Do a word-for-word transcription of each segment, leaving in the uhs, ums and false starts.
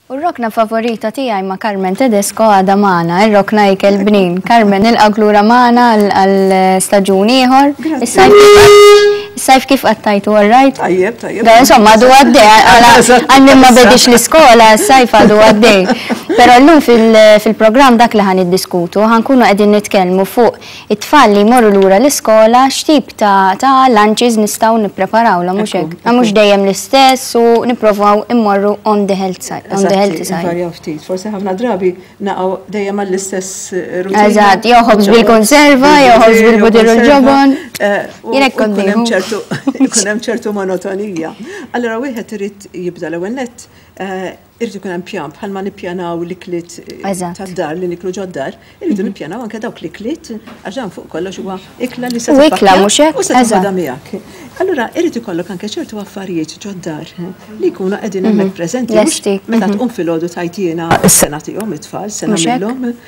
U r-rokna favorita tiegħi ma' Carmen Tedesco għadha magħna, ir-rokna Ikel Bnin. Carmen, nilqgħek lura magħna għal staġun ieħor. Is-sajf kif qattajtu, all right? Tajjeb, tajjeb. Da, insomma, għadu għaddej, għal ma bedix l-iskola, s-sajf għadu għaddej. Pero llum fil-program dak li ħa niddiskutu, ħa nkunu qegħdin nitkellmu fuq it-tfal li jmorru lura l-iskola, x'tip ta' ta' lunches nistgħu nippreparawlhom, mhux hekk. Mhux dejjem l-istess u nipprovaw immorru on the health side. On the healthy side. Varjaw ftit, forsi ħafna drabi naqgħu dejjem għall-istess rutina. Eżatt, jew ħobż bil-konserva, jew ħobż bil-butir u l-ġobon. Jien hekk kont Ikun hemm ċertu ikun hemm ċertu monotonija. Allora wieħed irid jibda l-ewwel nett eh, irid ikun hemm pjan bħalma nippjanaw l-ikliet eh, Eżatt. tad-dar li niklu ġod-dar, irridu nippjanaw anke dawk l-ikliet għax dan fuq kollox huwa ikla li se U ikla, tippakkja mhux hekk? u se Eżatt. toħodha miegħek. Allura irid ikollok anke ċertu affarijiet ġod-dar eh, li jkunu qegħdin hemmhekk preżenti mhux Lesti. meta tqum filgħodu tgħid jiena s-sena tihom it-tfal, sena Mhux hekk? minnhom.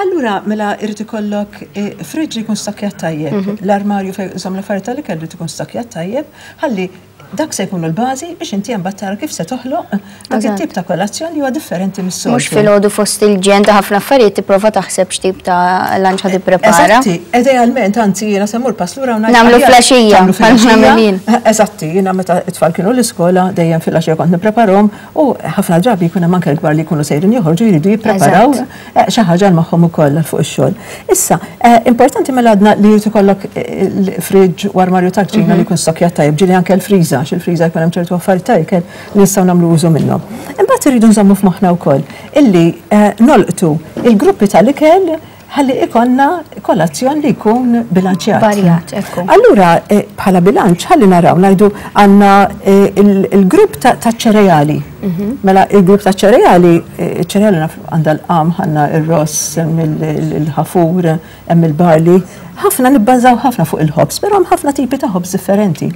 Allura, mela irid ikollok eh, fridge li jkun stokkjat tajjeb, l-armarju fejn iżomm l-affarijiet tal-ikel li jkun stokkjat tajjeb, ħalli dak se jkunu l-bażi biex inti mbagħad tara kif se toħloq dak Eżatt. it-tip ta' kolazzjon li huwa differenti mis-soltu. Mhux filgħodu fost il-ġen ta' ħafna affarijiet tipprova taħseb x'tip ta' lunch ħa tipprepara. Eżatti, idealment, anzi, jiena se mmur pass lura u ngħid Nagħmlu aħjar filgħaxija, tagħmlu bħal filgħaxija. nagħmel jien. Eżatti, jiena meta t-tfal kienu l-iskola dejjem filgħaxija kont nippreparahom u ħafna drabi jkun hemm anke l-kbar li jkunu sejrin joħorġu jridu jippreparaw eh, xi ħaġa magħhom ukoll fuq ix-xogħol. Issa, eh, importanti mela għadna li jrid ikollok eh, l-fridge u armarju tal-kċina li jkun stokkjat tajjeb, ġieli anke l-friża, għax il-friża jkun hemm ċertu affarijiet ta' ikel li nistgħu nagħmlu użu minnhom. Imbagħad irridu nżommu f'moħħna wkoll illi eh, nolqtu il-gruppi tal-ikel ħalli ikollna kolazzjon li jkun bilanċjat. Varjat, ekku. Allura, eh, bħala bilanċ, ħalli naraw, ngħidu għandna eh, il- il-grupp ta' ta' ċereali. Mela, il-grupp ta' ċereali, eh, ċereali naf għandha l-qam, għandna il-ross, hemm il- il- il-ħafur, hemm il-barley. Ħafna nibbażaw ħafna fuq il-ħobż, però hemm ħafna tipi ta' ħobż differenti.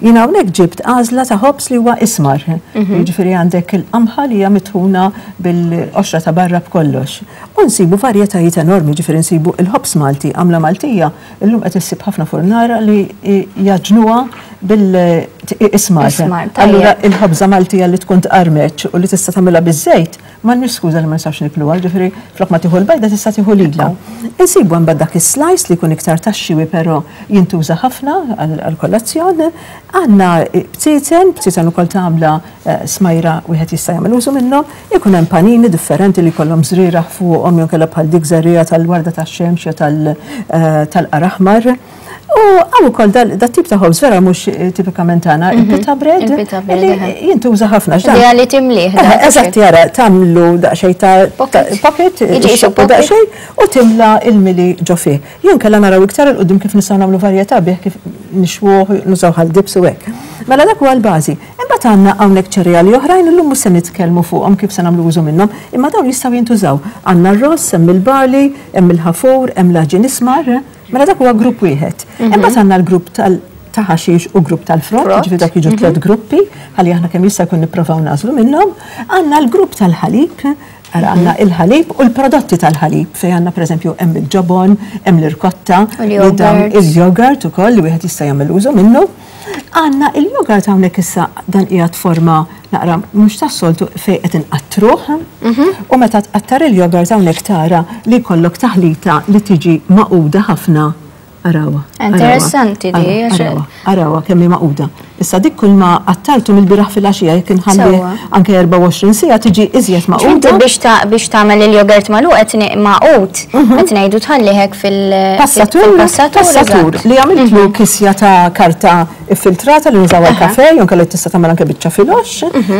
Jiena hawnhekk ġibt għażla ta' ħobż li huwa ismar. Jiġifieri għandek il-qamħa li hija mitħuna bil-qoxra ta' barra b'kollox. U nsibu varjetajiet enormi, ġifieri nsibu il-ħobż Malti, għamla Maltija, illum qed issib ħafna furnara li jaġnuha bil-ismar. Ismar, tajjeb. Allura il-ħobża Maltija li tkun tqarmeċ u li tista' tagħmilha biż-żejt, m'għandniex skuża li ma nistax nikluha, ġifieri flok ma tieħu l-bajda tista' tieħu lilha. Insibu hemm dak is-slice li jkun iktar tax-xiwi però jintuża ħafna għall-kolazzjon. Għandna btieten, btieten ukoll tagħmla eh, smajra wieħed jista' jagħmel użu minnhom, ikun hemm panini differenti li jkollhom żrieragħ fuqhom jew kellha bħal dik żerriegħa tal-warda tax-xemx jew tal- eh, tal-qaraħmar. U hawn ukoll dat tip ta' ħobż vera mhux eh, tipikament tagħna, il-pita bread, Il-pita bread, li eħe. jintuża ħafna. x'dan- Idea li timlih, Eh, dak, Eżatt, jara, tagħmlu daqsxejn ta' Pocket. ta' pocket, Jiġi qisu ixxoqqu pocket. daqsxejn u timla il-mili ġo fih. Jew inkella naraw iktar 'il quddiem kif nistgħu nagħmlu varjetà bih kif nixwuh, nużaw għal dips u hekk. Mela dak huwa l-bażi. Imbagħad għandna hawnhekk ċereali oħrajn illum mhux se nitkellmu fuqhom kif se nagħmlu użu minnhom, imma dawn jistgħu jintużaw. Għandna r-ross, hemm il-barley, hemm il-ħafur, hemm l-għaġin ismar, mela dak huwa grupp wieħed. Imbagħad għandna l-grupp tal ta' ħaxix u grupp tal-frott, Frott. ġifieri dak jiġu tliet gruppi, ħalli aħna kemm jista' jkun nipprovaw nagħżlu minnhom. Għandna l-grupp tal-ħalib, ara għandna il-ħalib u l-prodotti tal-ħalib, fejn għandna pereżempju hemm il-ġobon, hemm l-irkotta, U li dawn l-yogurt. il-yogurt ukoll li wieħed jista' jagħmel użu minnu. Għandna il-yogurt hawnhekk issa dan qiegħed forma naqra mhux tas-soltu fejn qed inqattruh. U meta tqattar il-yogurt hawnhekk tara li jkollok taħlita li tiġi magħquda ħafna. Arawha. Interessanti di, Arawha, għax- arawha, arawha kemm hi magħquda. Issa dik kull ma qattartu mill-bieraħ filgħaxija jekk inħalli Sewwa. anke erbgħa u għoxrin siegħa tiġi iżjed Inti magħquda. biex ta' biex tagħmel il-jogurt magħluq qed magħqud qed ngħidu tħalli hekk fil Passatur, fil-passatur. passatur eżatt. li għamiltlu kisja ta' karta filtrata li nużaw għal-kafe, jew inkella tista' tagħmel anke biċċa filgħox,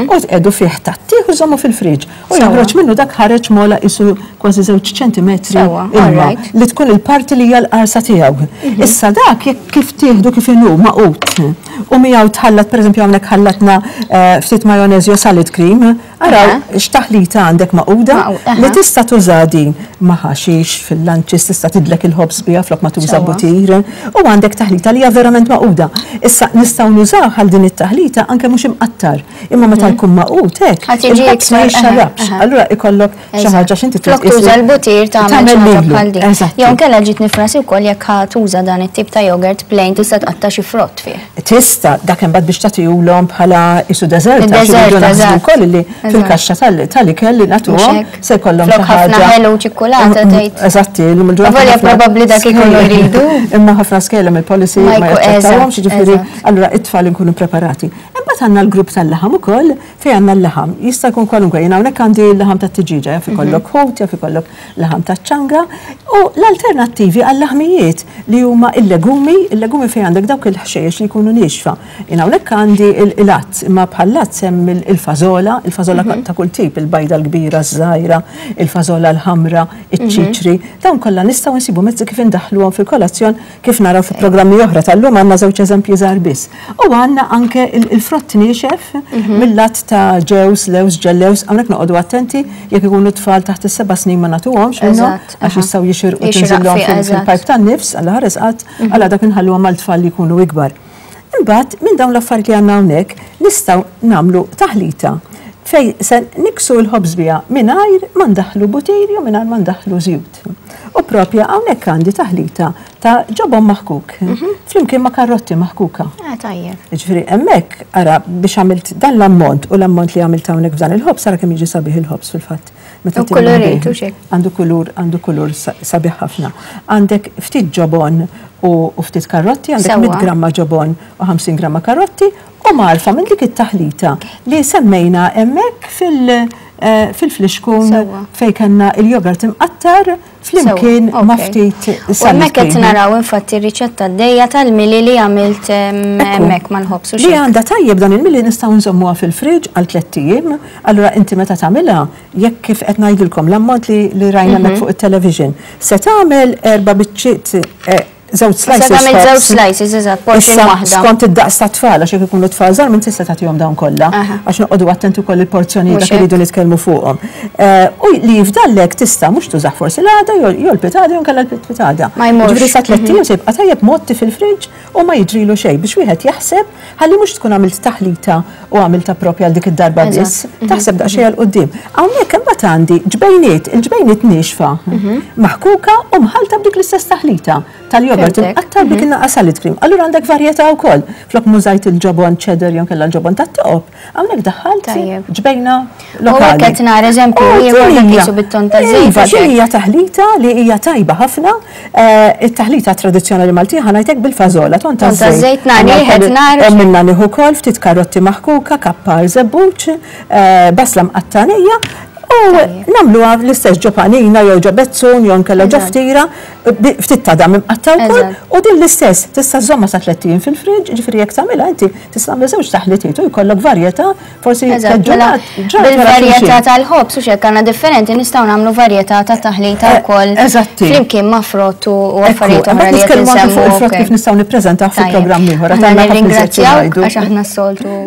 u tqiegħdu fih tgħattih u żommu fil-friġ. U Sewwa. joħroġ minnu dak ħareġ mola qisu kważi żewġ ċentimetri Sewwa, ilma alright. li tkun il-parti li hija l-qarsa tiegħu. Issa dak jekk kif tieħdu kif inhu magħqud u miegħu tħallat pereżempju hawnhekk ħallatna eh, ftit majonez jew salad cream, araw Aha. x'taħlita għandek magħquda Magħqud, aha. li tista' tuża din ma' ħaxix fil-lunches tista' tidlek il-ħobż biha flok ma tuża Sewwa. butir u għandek taħlita li hija verament magħquda. Issa nistgħu nużaw għal din it-taħlita anke mhux imqattar, imma meta jkun magħqud hekk Ħa tiġi il-ħobż ma iktar- aha, jixxarrabx. aha. Allura ikollok xi Eżatt. ħaġa x'inti Flok tuża l-butir tagħmel xi ħaġa bħal din. Eżatt. Jew inkella ġiet nifrasi wkoll jekk ħa tuża dan it-tip ta' yogurt plain tista' tqatta' xi frott fih. Tista' dak imbagħad biex tagħtihulhom bħala qisu dessert, għax Dessert, iridu naħsbu eżatt. wkoll li fil-kaxxa tal-ikel li nagħtuhom se jkollhom xi ħaġa. Ħafna ħelu ċikkulata tgħid. Eżatti, llum il-ġurnata. Volja probabbli dak ikunu jridu. Imma ħafna skejjel il-policy ma jaċċettawhomx, jiġifieri allura it-tfal inkunu preparati. Imbagħad għandna l-grupp tal-laħam ukoll fejn għandna l-laħam. Jista' jkun kwalunkwe, jien hawnhekk għandi l-laħam tat-tiġiġa, jaf ikollok ħut, jaf ikollok laħam taċ-ċanga u l-alternattivi għall-laħmijiet li huma il-legumi, il-legumi fejn għandek dawk il-ħxejjex li jkunu niexfa. Jien hawnhekk għandi il-għads, imma bħall-għads hemm il-fażola, il-fażola ta' kull tip, il-bajda l-kbira, ż-żgħira, il-fażola l-ħamra, iċ-ċiċri, dawn kollha nistgħu nsibu mezzi kif indaħħluhom fil-kolazzjon kif naraw fi programmi oħra tal-lum għandna żewġ eżempji żgħar biss. U għandna anke il-frott niexef mill-lat ta' ġewż, lewż, ġellews, hawnhekk noqogħdu attenti jekk ikunu tfal taħt is-seba' snin ma nagħtuhomx minnhom għax jistgħu jixirqu tinżilhom fil-pajp tan-nifs għal ħares qatt għal dak inħalluhom mal-tfal li jkunu ikbar. Imbagħad minn dawn l-affarijiet li għandna hawnhekk nistgħu nagħmlu taħlita fej se niksu l-ħobż biha mingħajr ma ndaħħlu butir jew mingħajr ma ndaħħlu żjut. U propja hawnhekk għandi taħlita ta' ġobon maħkuk, flimkien ma' karrotti maħkuka. Ah, tajjeb. Jiġifieri hemmhekk ara biex għamilt dan l-ammont u l-ammont li għamilt hawnhekk f'dan il-ħobż ara kemm jiġi sabiħ il-ħobż fil-fatt. U kolorit u xek. Għandu kulur, għandu kulur sabiħ ħafna. Għandek ftit ġobon u ftit karrotti, għandek mitt gramma ġobon u ħamsin gramma karrotti u marfa minn dik it-taħlita li semmejna hemmhekk fil-flixkun fejn kellna il-jogurt imqattar flimkien ma' ftit U hemmhekk qed naraw infatti r-riċetta d-dejja tal-mili li għamilt hemmhekk mal-ħobż. Li għandha tajjeb dan il-mili nistgħu nżommuha fil-friġ għal tlett ijiem, allura inti meta tagħmilha jekk kif qed ngħidilkom l-ammont li rajna hemmhekk fuq it-television, se tagħmel erba' biċċiet żewġ slices. Se tagħmel żewġ slices, eżatt, portion waħda. Skont id-daqs ta' tfal, għax jekk ikunu tfal żgħar minn tista' tagħtihom dawn kollha, għax noqogħdu attenti wkoll il-porzjonijiet dak iridu nitkellmu fuqhom. U li jifdallek tista' mhux tużah forsi l-għada jew l-pitada jew nkella l-pitada. Ma jmurx. Ġifieri sa tlett ijiem se jibqa' tajjeb motti fil-friġġ u ma jiġrilu xejn biex wieħed jaħseb ħalli mhux tkun għamilt taħlita u għamilta propja għal dik id-darba biss, taħseb daqsxejn għal quddiem. Hawnhekk imbagħad għandi ġbejniet, il-ġbejniet niexfa, maħkuka u mħalta b'dik l-istess taħlita tal-jogurt imqattar dik in-naqa salad cream. Allura għandek varjetà wkoll. Flok mużajt il-ġobon cheddar jew kellha l-ġobon tat-toqob, hawnhekk daħħalt ġbejna lokali. U qed nara eżempju ieħor dak qisu bit-ton ta' żejt. Iva, din hija taħlita li hija tajba ħafna. It-taħlita tradizzjonali Maltija ħa ngħidlek bil-fażola, ton ta' żejt nagħni nar. Minna nieħu wkoll ftit karotti maħkuka, kappar żebbuġ, basla mqattanija. U nagħmluha l-istess ġo panina jew ġo bezzun jew nkella ġo ftira, ftit ta' dam imqatta wkoll, u din l-istess tista' żomma sa tliet ijiem fil-friġġ, ġifieri jekk tagħmilha inti tista' tagħmel żewġ taħlitiet u jkollok varjetà forsi mela, bil-varjetà tal-ħobż u x'hekk għandna differenti nistgħu nagħmlu varjetà ta' taħlita wkoll. Flimkien ma' frott u affarijiet oħra li qed insemmu. Fuq il-frott kif nistgħu nippreżentaw fi programm ieħor. Aħna nirringrazzjawk għax aħna s-soltu.